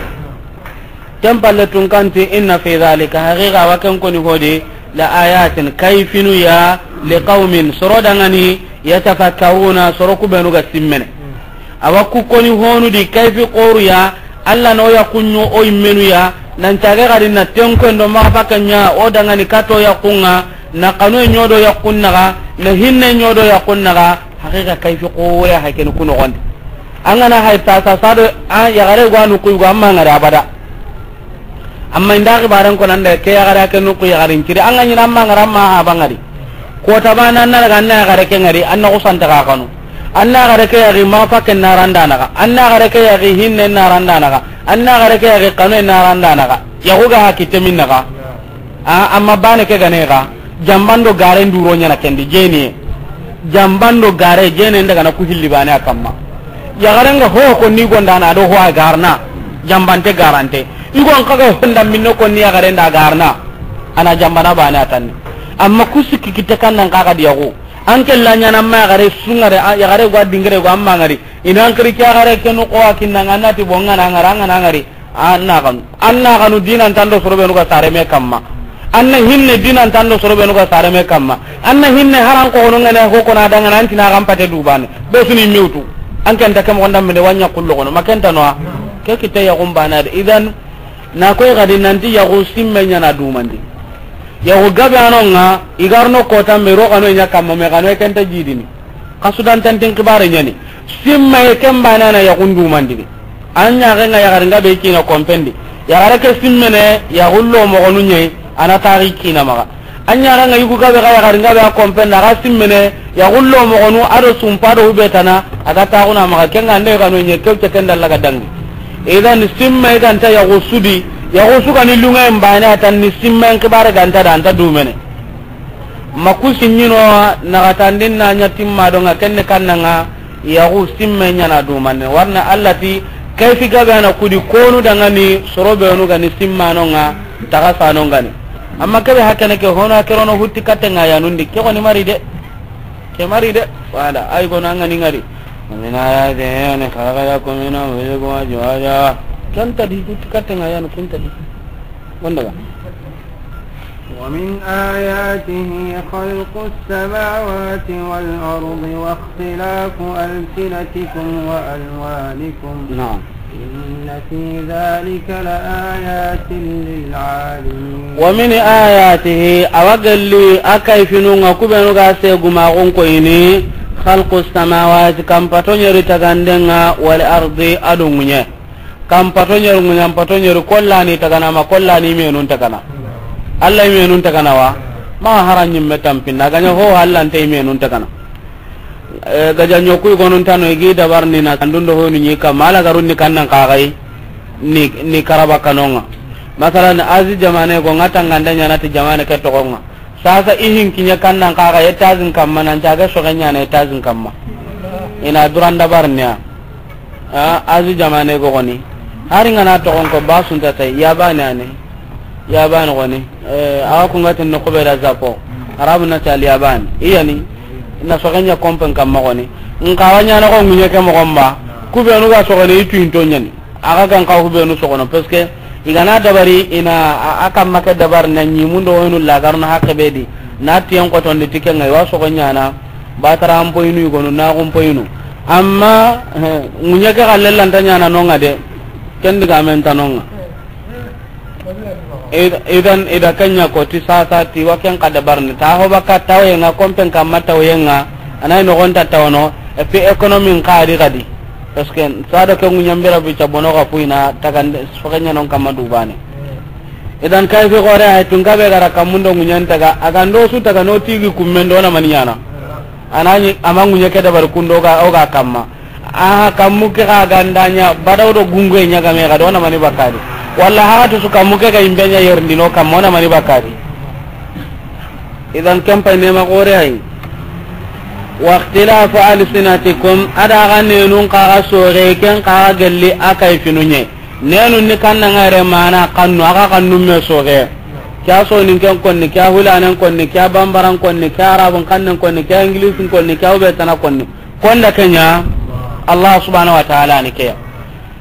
Ken palle tun kanti inna fi dhalika, haqiqa wa ken koni hodi, la ayatin, kayfinu ya, li qaumin, soro dangani, yatafakkaruna, soro kubenu ga simmene. Awa ku koni honu di kayfi qoru ya, Alla no ya kunyo o immenu ya, nan cage gari na tenko ndo ma fakanya o dangani kato ya kunga, na kanu nyodo ya kunnaga, na hinne nyodo ya kunnaga, haqiqa kayfi qore ha ken kuno gonde. Angana hay ta sa sado a ya gare gwanu ku go amma ngare abada. Amma inda xibaran ko nan da ke ya gare ke nuku ya garin kiri. An ga ɲina amma ngara amma ha bangari. Ko tabana na ga na ya gare ke ngari, an na ko santa ga kanu. An na yaxare ke yaxi maxa ke na randa naxa. An na yaxare ke yaxi hinne na randa naxa. An na yaxare ke yaxi kanu na randa naxa. Yaxu ga haki temin naxa. A, amma baane ke ga ne ga, janban do gare nduro ɲaana ken di, jeeniye. Janban do gare, jeeniye nda ga na ku hilli baane a kamma. Yaxare nga ho ko ni gonda na do ho a garna, janbante garante. I go n xa ga ho nda minno ko ni yaxare nda garna, a na janbana baane a tanni. Amma ku sikki kitte kan nan xa ga di yaxu. An ke la ɲaana ma yaxare su ŋa de, a, yaxare go a dingire go amma ŋari. I na n xiri ke yaxare ke nu ko a kinna ŋa na ti bo ŋa na ŋara, ŋa na ŋari. An na xanu. An na xanu dinan tando soro be nu ga sare me kamma. An na hinne dinan tando soro be nu ga sare me kamma. An na hinne haran ko hono ŋa ne ho ko na da ŋa na an ti na xan pate du baane. Be su ni mewtu. An ke nta ke mo gonda minde wa ɲa kullo kono. Ma ke nta no a. Ke kitte yaxun baane a de. Idan, na koy ga di nanti yaxu simme ɲaana dumandi. Yaxu gabe a no ŋa, i ga ro no kota me ro xanu ɲa kamma me xanu ke nta jidini. Xa su dan tantin xibaare ɲaani. Simme ken baane a na yaxun dumandini. An ɲaxe ŋa yaxare nga be kina kompen di. Yaxare ke simmene yaxu lo moxonu ɲa yi, a na taxi kina maxa. An ɲaxe nga yugu gabe ga yaxare nga be a kompen di, a ga simmene yaxu lo moxonu a do sumpa do hube tana, a ga taxuna maxa. Ke nga nde xanu ɲa kew ce ken dalla ga dangi. Idan simme ga nta yaxu su di, yaxu su ga ni lunŋe baane a tanni, simme xibaare ga nta da, a nta dumene. Ma ku simmino naxatandin na ɲa timma do ŋa kenne kanna ŋa, yaxu simme ɲaana dumane. Warna Allah ti, kayfi gabe a na ku di konu dangani soro be nu ga ni simmano ŋa, taxa sano ŋa ni. Amma kebe hakene ke hono a ke ro no hutti katte ŋa ya nundi, ke xoni mari de. Ke mari de. Wala, ay gono a ŋa ni ŋari. ومن آياته أن خلق لكم من أنفسكم أزواجا. Ken ta di hutti katte ŋa ya nu kun ta di. Wanda ga. ومن آياته خلق السماوات والأرض واختلاف ألسنتكم وألوانكم. نعم. إن في ذلك لآيات للعالمين. ومن آياته، a wa gelli a kayfinu ŋa ku be nu ga se guma gon ko ini, خلق السماوات, kampato ɲeri taganden ŋa, والأرض, a do ŋuɲe. Kampato ɲeri, ŋuɲampato ɲeri, kollani tagana ma, kollani menun tagana. Allah menun tagana wa? Ma hara ɲimme tampinda, a ga ɲa ho hallante menun tagana. Eh, gaja ɲoku i gonun tano i gi dabar ni na kandun do honu ɲi kamma, ala garun ni kannan kaxay ni, ni karaba kanonga. Masalan, Azi jamane go ŋa tangande ɲaana ti jamane ke toxonga. Sasa i hin kiɲe kannan kaxa etazin kamma, nan caga soxe ɲaana etazin kamma. I na duran dabar ni ya. A, Azi jamane go goni. Hari ngana toxon ko ba sunta tay, yabani ane. Yabani goni. Eh, awa ku nga tin no ko be da Japo. Arabu na ti al yaban. Iyani. Na soxe ɲa kompen kamma goni. Nka wa ɲaana ko ŋuɲe ke moxon ba. Ku be nu ga soxone i tu into ɲani. A ga gan ka ku be nu soxono. Parce que i ga na dabari i na a, a kamma ke dabar na ɲimundo honu lagarno hakke be di. Na tiyen xotondi ti ke ŋa i wa soxo ɲaana. Batara an poyinu i gonu, na gun poyinu. Amma, eh, ŋuɲe ke xalle lanta ɲaana nonga de. Ken diga men ta nonga. Id-, idan, ida kenya ko ti sasa ti wa ken kada barni. Ta ho baka tawaye nga, kompen kamma tawaye nga. Anay no gonta tawno. Et puis économie nka di kadi. Parce que sa do ke ŋuɲambira bi cabono ga puina tagande, fo kenya non kamma dubane. Idan kay fi gore ay tun gabe gara kamundo ŋuɲan taga, a ga ndo su taga no tigi kummen do na mani ɲaana. Anani ama ŋuɲe ke dabar kundo ga, o ga kamma. Aha, kammu ke ga ganda ɲa, badaw do gungu ɲa game ga do na mani bakari. Walla haga to su kammu ke ga imbe ɲa yerndino kamma o na mani bakari. Idan ken pay nema gore ay. Wa ikhtilafu alsinatikum, a da ga nenun xa ga soxe, ken xa ga gelli a kayfinu ɲe. Nenun ni kanna ngare mana kannu, a ga kannu me soxe. Kya soninken konni, kya hulanen konni, kya bambaran konni, kya arabun kannen konni, kya ingilisin konni, kya ubetana konni. Konda kenya, Allah subhanahu wa ta'ala ni keya.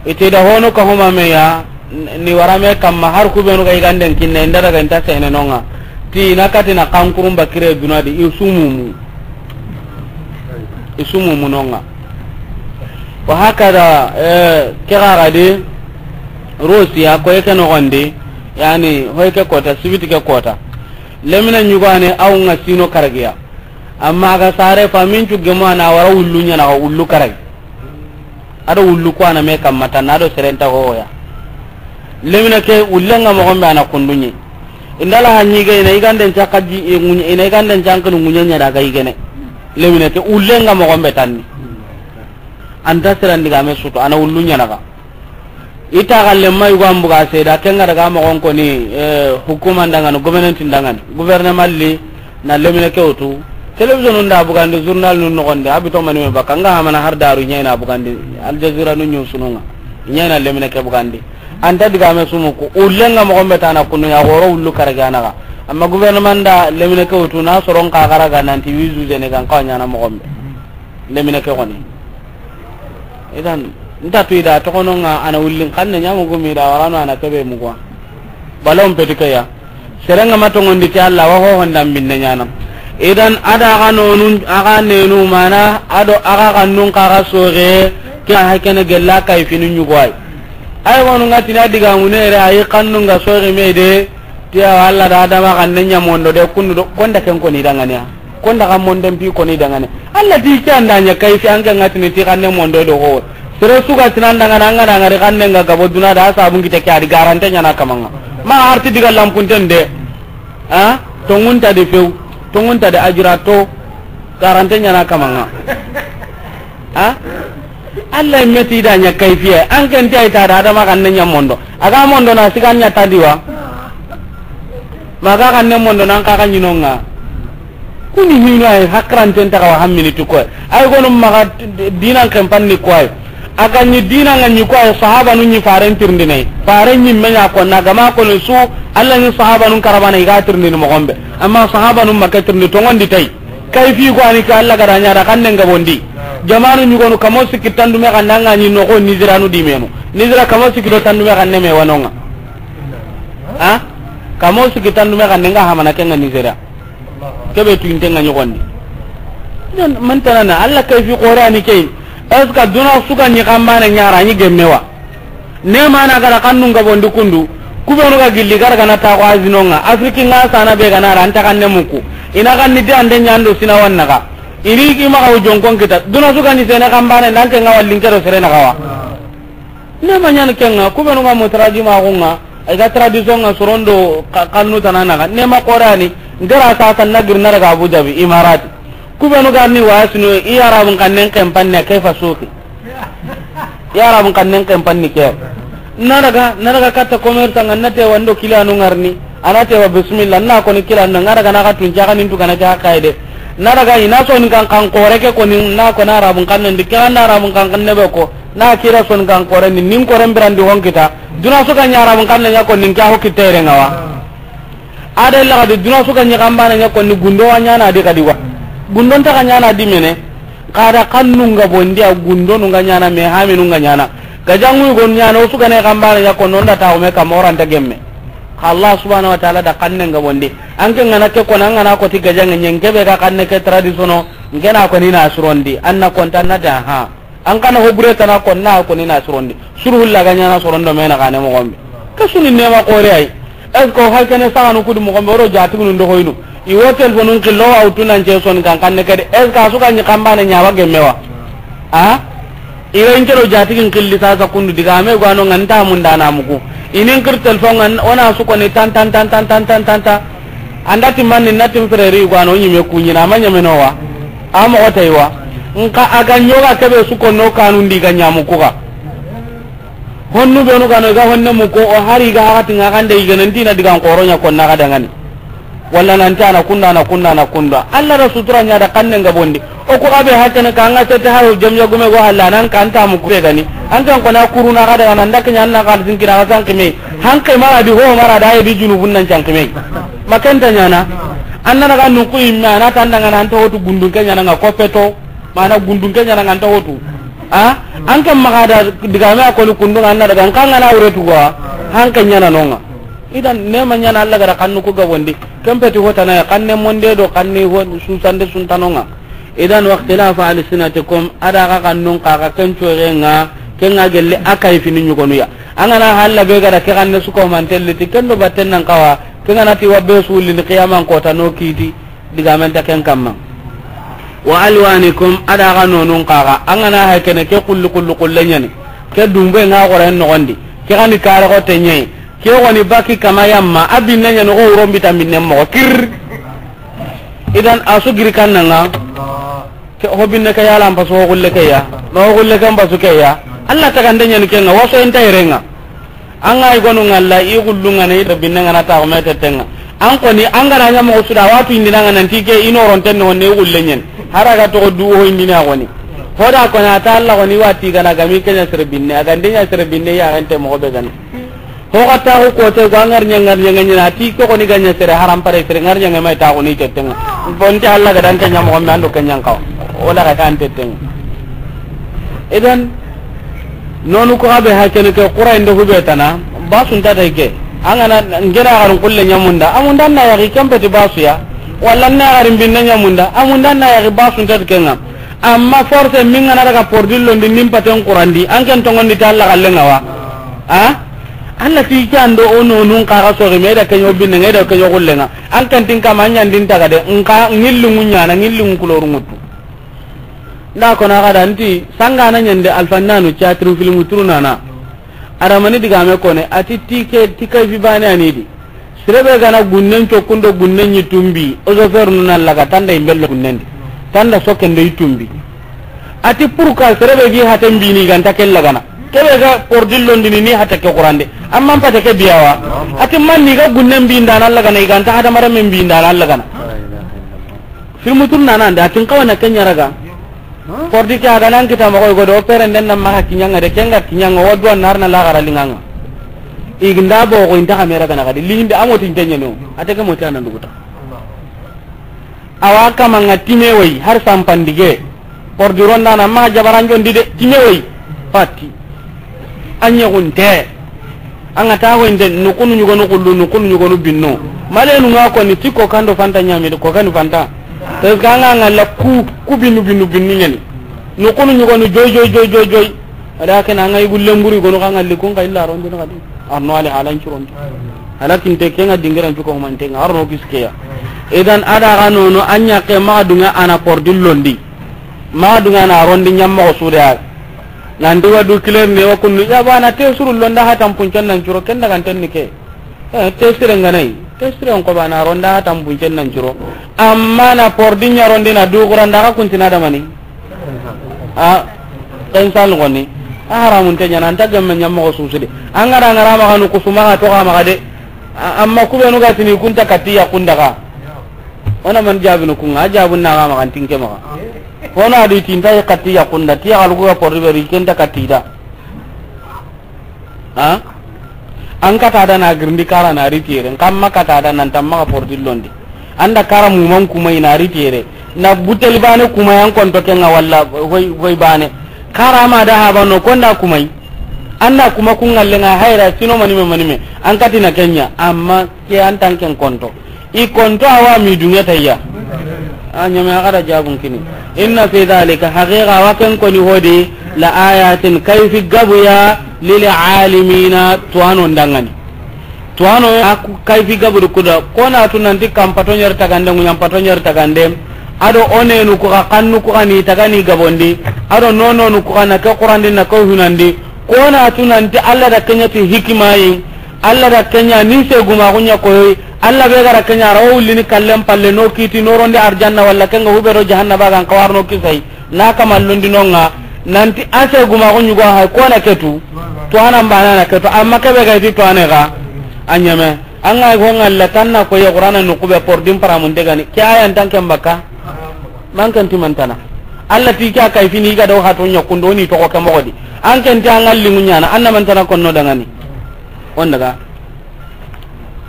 Ite da hono ka huma meya, n-, ni warame kamma har ku benu ga iganden kinne, inda daga inta sene nonga. Ti ina katina kankurun bakire dunadi, isumumu. Isumumu nonga. Wa hakada, eh, ke gagadi, Rusiya, koy ke nogondi, yani, hoy ke kota, sibiti ke kota. Lemine ɲugane, aw nga sino karagiya. Amma aga sare fa min cu gemo ana wara wullu ɲana ga wullu karagi. Ado wullu ko ana me kamma tan, ado serenta hoya. Lemine ke ullenga mo gombe ana kundunye. Indala hanyi ga ina iganden cakaji, e, ina iganden cankinu ŋuɲe ɲa daga igene. Lemine ke ullenga mo gombe tanni. Anta siran digame sutu, a na wullu ɲana ga. I ta galle ma yugo an buga seda, ken ga daga moxon koni, eh, hukuma ndangani, gouvernement ndangani. Gouvernement li na lemine ke wutu. Télévision nda bugandi, journal nun noxonde, a bito mani me baka, nga hamana har daru ɲayna bugandi, Al Jazeera nu ɲun sununga. Ɲayna lemine ke bugandi. Anta digame sumuku, ullenga moxon be tana kunu ya goro wullu karagana ga. Amma gouvernement nda lemine ke wutu na soron ka garaga nanti wizu zene gan ka ɲana moxon be. Lemine ke xoni. Idan, nta tu ida toxononga a na wullin xanne ɲamu gumi da warano a na kebe mugwa. Balon peti ke ya. Serenga ma tongondi ti Allah wa ho honda minne ɲana. Idan, ada ga nonun, aga nenu mana, ado aga kannun kaga soge, ke hakene gella kay finu ɲugwai. Ay wonu ngati na diga munere ay kannun ga soge me de, Ti awa Allah da Adama xanne ɲa mondo de kundu do, konda ken koni dangane ya. Konda xa mondo mpi koni dangane. Allah ti ke anda ɲa kay fi an ke ngatini ti xanne mondo do ho. Sere suga tinan dangana anga dangari xanne nga gabo duna da sabun kite ke adi garante ɲana kamanga. Ma arti diga lampunten de. Ha? Tongunta de few. Tongunta de ajira to. Garante ɲana kamanga. Ha? Allah meti da ɲa kayfiya. An ken ti ay ta da Adama xanne ɲa mondo. Aga mondo na sigan ɲa tadiwa. Maga xanne mondo nan kaga ɲinonga. Kuni hinu ay hakranten ta kawa hammini tuko. Ay gonu maga dinan kempan ni koy. Aga ni dinan nga ni koy sahaba nu ni faren tirndinai. Faren ni menya ko na gama ko su Allah ni sahaba nun karabana iga tirndini moxon be. Amma sahaba nun maka tirndi tongondi tay. Kayfi ko ani ka Allah gada ɲa da xanne nga bondi. Jamanu ɲugonu kamo sikki tandume xanne anga ni noxo Niziranu dimenu. Nizira kamo sikki do tandume xanne me wanonga. Ha? Kamo sikki tandume xanne nga hamana kenga Nizira. Kebe tuinte nga ɲogondi. Idan mantanana Allah kayfi qore ani kay. Est-ce que duna suga ni kambana ɲara ni gemmewa? Ne mana gara kannun gabondi kundu, kubenu ga gilli gara gana ta ko azinonga, Afrique nga sana be gana ra anta kanne muku. Ina kanni de ande ɲando sina wannaga. Iri ki maga ujonkon kita, duna suga ni sene kambane nanke nga wallin kero sere na gawa. Ne ma ɲan kenga, kubenu ga mutraji ma gunga, ay ga tradition nga sorondo ka-, kannu tanana ga. Ne ma qorani, ngara sa tan na girna daga Abu Dhabi, Imarati. Kubenu ga ni wasinu, i Arabun kannen kempanne, kayfa suki. Ya Arabun kannen kempanni ke. Na daga, na daga katta commerçant nga na te wando kila no ngarni. Ana te wa bismillah, na ko ni kila no ngara gana ka tun jaga nin tu kana ja kaide. Na daga ina so ni kan kan kore ke ko ni na ko na Arabun kannen di kan na Arabun kan kan ne be ko. Na kira so ni kan kore ni nin kore mbirandi hon kita. Duna so kan ya Arabun kannen ya ko nin ka ho kitere ngawa. Ada illa kadi duna suga ɲi kambana ɲa konni gundo wa ɲana di kadi wa. Gundo nta ka ɲana di mene. Kada kannun ga bondi a gundo nun ga ɲana me haminu nga ɲana. Gajangu gon ɲana o suga ne kambana ɲa konno nda ta o me kamoranta gemme. Ka Allah subhanahu wa ta'ala da kannen ga bondi. Anke ngana ke kona ngana ko ti gajange ɲen kebe ga kanne ke tradisono. Ngena ko ni na surondi. Anna konta na da ha. An kana ho bure tana ko na ko ni na surondi. Suru hulla ga ɲana sorondo mena kane mo gombe. Ka suni nema kore ay. Est-ce que o halkene saganu kudu mo gombe oro jatugunu ndo hoynu? I wo telefonun killo wa utunan ce son kan kanne kede. Est-ce que a suga ɲi kambane ɲawa gemmewa? Ha? I wo inkero jatigin killi sasa kundu diga me gwano nganta mundana muku. Inin kir telefon ngan ona suko ni tan tan tan tan tan tan tan. Anda timmanni na tim frère yugo ano ɲime kuɲina ma ɲameno wa. A moxo tay wa. Nka a ga ɲoga kebe su konno kanundi ga ɲamu kuga. Honnu benu gano ga honne mu ko o hari ga hati nga gande igana ndina digan koro ɲa konna ga dangani. Walla nan ta na kunda na kunda na kunda. Allah da sutura ɲa da kanne nga bondi. O ko abe hakene ka nga sete haru jam ya gume go halla nan kan ta mu kure gani. An kan kona kuruna ga daga nan da kanya na ga din kira ga san kime. Han kai mara di ho mara da ya di junubun nan can kime. Makanta ɲana. Anna daga nun ku imme ana tan daga nan ta hotu gundun ke ɲana nga kopeto. Mana gundun ke ɲana nga ta hotu. A? An kan maga da diga me akoli kundun anna daga kan ngana wure tuwa. Han kan ɲana nonga. Idan nema ɲana Allah gara kannu ku ga bondi. Kempeti hotana ya kanne monde do kanne ho susande suntanonga. Idan waqtilafa alsinatikum ada ga kannun ka ga ken corenga kenga gelle akai fini ɲugonu ya. Angana halla be gara ke kanne suko mantelliti kendo batten nan kawa kengana ti wabbe sulini qiyaman kota no kiti. Digamen ta ken kamma. Wa alwanikum ada ga nonun kaga angana hay kene ke kullu kullu kullu nyani. Ke dumbe nga goren nogondi. Ke gani kare ko tenye. Ke woni baki kama yamma abinne nyani go urombita minne mo kir. Idan asu giri kannanga. Ke hobinne ke yala ampa so gulle ke ya. O gulle kan basu ke ya. Allah tagande ɲani ke ŋa, waso inta yere ŋa. An ga i gonu ŋalla, i gullu ŋa na, i tere binne ŋa na ta ko mete tenga. An koni, an ga na ɲa moxo su da, watu indina ŋa nanti ke, i noronten no ne gulle ɲen. Hara ga toxo du ho indina goni. Hoda koni, a ta Allah goni wati ga na gami ke ɲa sere binne, a gande ɲa sere binne ya gente moxo be gani. Ho ga ta ko kote, go ŋar ɲa, ŋar ɲa ŋa ɲa na, ti ko koni ga ɲa sere haram pare sere, ŋar ɲa ŋa mai ta goni tetenga. Bonte Allah ga dan ke ɲa moxo me an do ke ɲa n kawa. O la ga kan tetenga. Idan, nonu ko abe hakene ke, Qur'an do hube tana, basu nta dai ke. An ga na ngena garan kulle ɲa munda, a munda na yaxi kempeti basu ya. Walla na garin binne ɲa munda, a munda na yaxi basu nta ke ŋa. Amma force min ga na daga pordillo ndi nin paten Qur'an di, an ken tongon di ta Allah galle ŋa wa. A? Allah ti ke an do o nonun ka ga so me da ke ɲo binne ŋa, da ke ɲo gulle ŋa. An ken tin kama ɲa ndin taga de, nka ngilli ŋuɲana, ngilli ŋu kuloru ŋutu. Nda ko na ga da nti, sanga na ɲande alfannanu, theatre, film, turu nana. Adamani diga me kone, a ti ti ke, ti kayfi bane anidi. Sere be ga na gunnen cokkundo gunnen ɲi tumbi, o zo fer nu na laga tanda imbello gunnen di. Tanda sokkendo i tumbi. A ti pourquoi sere be gi haten bini ganta ke lagana. Ke be ga pordillo ndini ni hata ke Qur'an de. Amma pate ke biyawa. A ti man ni ga gunnen bi ndana lagana, i ganta hadamaren men bi ndana lagana. Filmu tun nana nda, a tin kawana ke ɲa raga. Pordi ke a ga nan kita moxo go do, o peren den na maxa kiɲanga de, kenga kiɲanga, o duwa nar na laxara linganga. Iginda bo go inta kamera ga na ga di, linde a moti nte ɲeno, a tege moti a nan duguta. Awa kamanga time woyi, har sampandige. Pordi ronda na maxa jabaran jondi de, time woyi. Pati. A ɲexunte. An ga taxo inde, nukunu ɲugonu kullu, nukunu ɲugonu binnu. Malenu ŋa koni ti kokando fanta ɲamidi, kokani fanta. Parce que an ga ŋalla ku, ku binnu, binnu, binnu ɲani. Nukunu ɲugonu joy, joy, joy, joy, joy. A da ken an ga yugu lemburi gonu xa ŋalli kun xa illa rondi na xadi. Arno ale halan curonti. Ala kinte ke ŋa dingiran cuko mantenga, arno kiskeya. Idan a da ga nono, a ɲa ke maxa dunga a na pordillo ndi. Maxa dunga a na rondi ɲammoxo su de ya. Nanti wa du kiler ne wa kunnu. Ya bana te suru londa hatan puncen nan curo, ken daga nten ni ke. Eh, te sire nga nay. Te sire on ko bana ronda hatan puncen nan curo. Amma na pordi ɲa rondi na du guranda ka kuntina da mani. A, ken sal goni. A haramun te ɲana, anta gemme ɲammoxo su su de. An ga da ŋara maxa nu kusuma ga to ga maxa de. A, amma kubenu ga tini kunta katiya kunda ga. Ona man jabinu kunga, a jabun na ga maxa ntinke maxa. Hono a di tinta i katti ya kunda, ti ya galugu ga porri beri kenta katti da. Ha? An kata da na girindi kara na ri tere, nkamma kata da nan tamma ga porri londi. Anda kara muman kuma i na ri tere. Na butel bane kuma yan konto kenga walla hoy, hoy bane. Kara ma da haba no konda kumai. Anda kuma kunga lenga hayra sino manime manime. An kati na kenya, amma ke an tanken konto. I konto awa mi dunya tayya. A ɲame a ga da jabun kini. Inna fi dhalika, haqiqa wa ken koni hodi, la ayatin, kayfi gabuya, lil alimina, tuwano ndangani. Tuwano a ku-, kayfi gabu du kuda, kona tu nanti kam pato ɲer tagande, ŋuɲam pato ɲer tagande, ado onenu ku ga kannu ku ga ni tagani gabondi, ado nononu ku ga na ke Qurandi na ke hunandi, kona tu nanti Allah da kenya ti hikimayi, Allah da kenya ni se guma gunya koyi, Allah be gara kenya rawo wulini kallen palle no kiti no rondi arjanna walla kenga hube do jahannaba gan kawarno kisai na kamallundi nonga nanti ase guma gunyu go hay kona ketu to anan bana na ketu amma kebe ga ti to ane ga anyame anga go ngalla tanna ko ya Qur'ana no kube por dim paramun degani ke ayan tanken baka mankan timantana Allah ti ka kayfini ga do hato nyakundo ni to ko ke mogodi an ken ta ngalli munyana anna mantana konno dangani. On daga.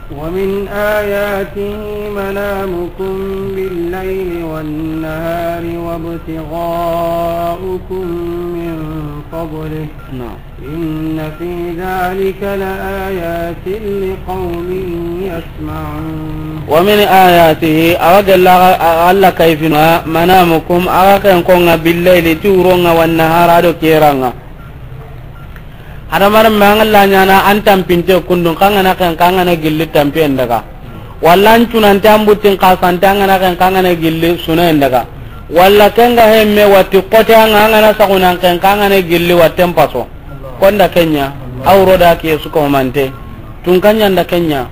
ومن آياته منامكم بالليل والنهار وابتغاؤكم من فضله. نعم. إن في ذلك لآيات لقوم يسمعون. ومن آياته، a ga gella Allah kayfinu, منامكم, a ga ken konga بالليل, ti wuronga, والنهار, ado keranga. Hadamaren me an ga la ɲana an tampinte kundun kangana ken kangana gilli tampiyen daga. Walla an cunante an buttin kasante an gana ken kangana gilli sunayen daga. Walla kenga hemme watti kote an ga an gana sagunan ken kangana gilli watten paso. Konda kenya, awro da kiye suko mante. Tun kanya nda kenya.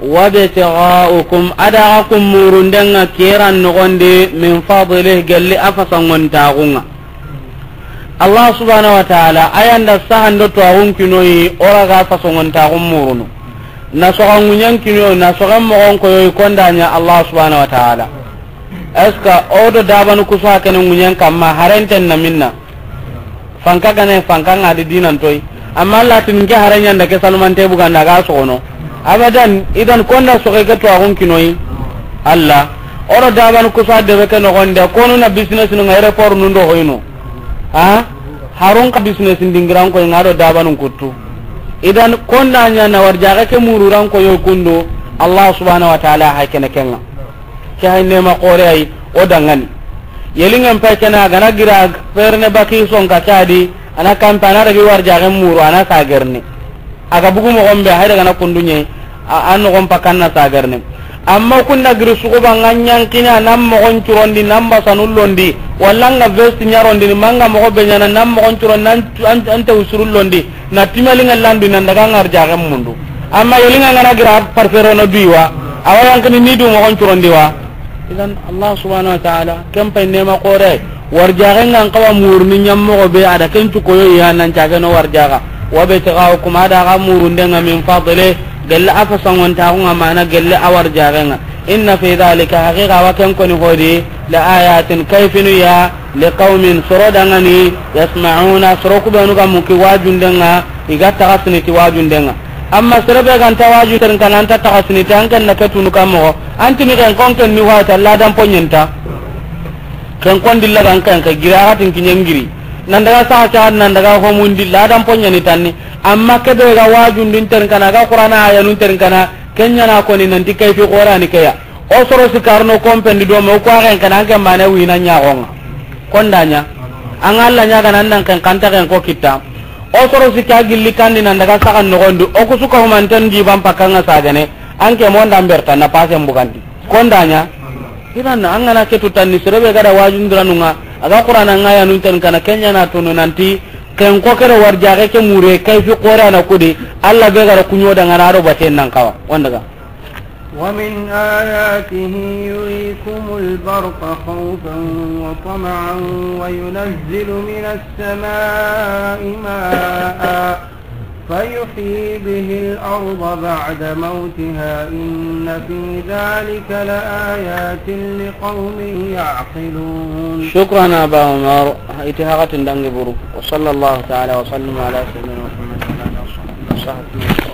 وابتغاؤكم, a da ga kun murundenga keran nogondi, من فضله, gelli a fasangontaxunga. Allah subhanahu wa ta'ala, a yan da sahan do tuwaxun kinoyi, o ra ga fasongontaxun murunu. Na soxa ŋuɲen kinoyi, na soxen moxon koyoyi, konda ɲa Allah subhanahu wa ta'ala. Est-ce que o do dabanu kusa kene ŋuɲen kamma, harenten na minna? Fanka gane, fanka ŋa di dinan toyi. Amma Allah tin ke haren ɲa nda ke salmante buganda ga soxono. Abadan, idan konda soxe ke tuwaxun kinoyi. Allah. O do dabanu kusa debe ke noxonde, konu na business nu ŋa aéroport nun do hoyno. Ha? Harun ka business dingiran koy ŋa do dabanun kuttu. Idan konda ɲa na warjaxe ke mururan koyo kundu, Allah subhanahu wa ta'ala hay kene kenga. Ke hay nema xore ay, o dangani. Yelingen pay kena gana gira ferne baki son ka kadi, ana kampa na ragi warjaxe muru, ana sagerne. A ga bugu moxon be, hay daga na kundu ɲe, a, a noxon pakan na sagarne. Amma kunda giri suxuba nga ɲankina, nan moxon curondi, nan basanu londi, walla nga vesti ɲarondi, ni manga moxo be ɲana, nan moxon curondi, nan, an, an te usuru londi, na timali nga landu, nan daga ngar jaxen mundu. Amma yelinga ngana gira parfero no duiwa, awa yankini ni du moxon curondi wa. Idan Allah subhanahu wa ta'ala, ken pay nema xore. Warjaxe ngan xawa muruni ɲammoxo be, a da ken cukoyo ya nan cageno warjaxa. Wa be taxaw kuma da ga murundenga min fadli, gelle a fasangontaxunga mana gelle a warjaxenga. Inna fi dhalika, haqiqa wa ken koni hodi, la ayatin, kayfinu ya, li qawmin, soro dangani, yasma'una, soro kubenu ga muki wajundenga, i ga taxasini ti wajundenga. Amma sere be ganta waju terin kana anta taxasini ti an ken na ke tunu kammoxo, anti mi ken kon ken ni wata ladan ponyenta. Ken kon dilla gan ken ke gira hatin kinyengiri. Nan daga sa sa nan daga homundi ladan ponyani tanni. Amma ke be ga wajundin terin kana, ga Qur'ana ayanun terin kana, kenya na koni nanti kayfi Qur'ani ke ya. O soro sikarno kompendi do mo ko agen kana an ken mane wina ɲaxonga. Konda ɲa. An Allah ɲa ga nan nan ken kanta ken ko kitta. O soro sika gilli kandi nan daga sagan nogondi. O kusuka humanten di ban pakanga sagane. An ke monda berta na pasen bugandi. Konda ɲa. Idan an gana ke tutanni sere be ga da wajundiranunga. A ga Qur'ana nga yanun ten kana kenya na tunu nanti. Ken ko kere warjaxe ke mure kayfi Qur'ana kudi. Allah be ga da kunyo dangana do baten nan kawa. Wanda ga. ومن آياته يريكم البرق خوفا وطمعا وينزل من السماء ماء فيحيي به الأرض بعد موتها إن في ذلك لآيات لقوم يعقلون. شكرا أبا عمر. Iti hakatin dangi buru. وصلى الله تعالى وسلم على سيدنا محمد وعلى آله وصحبه وسلم.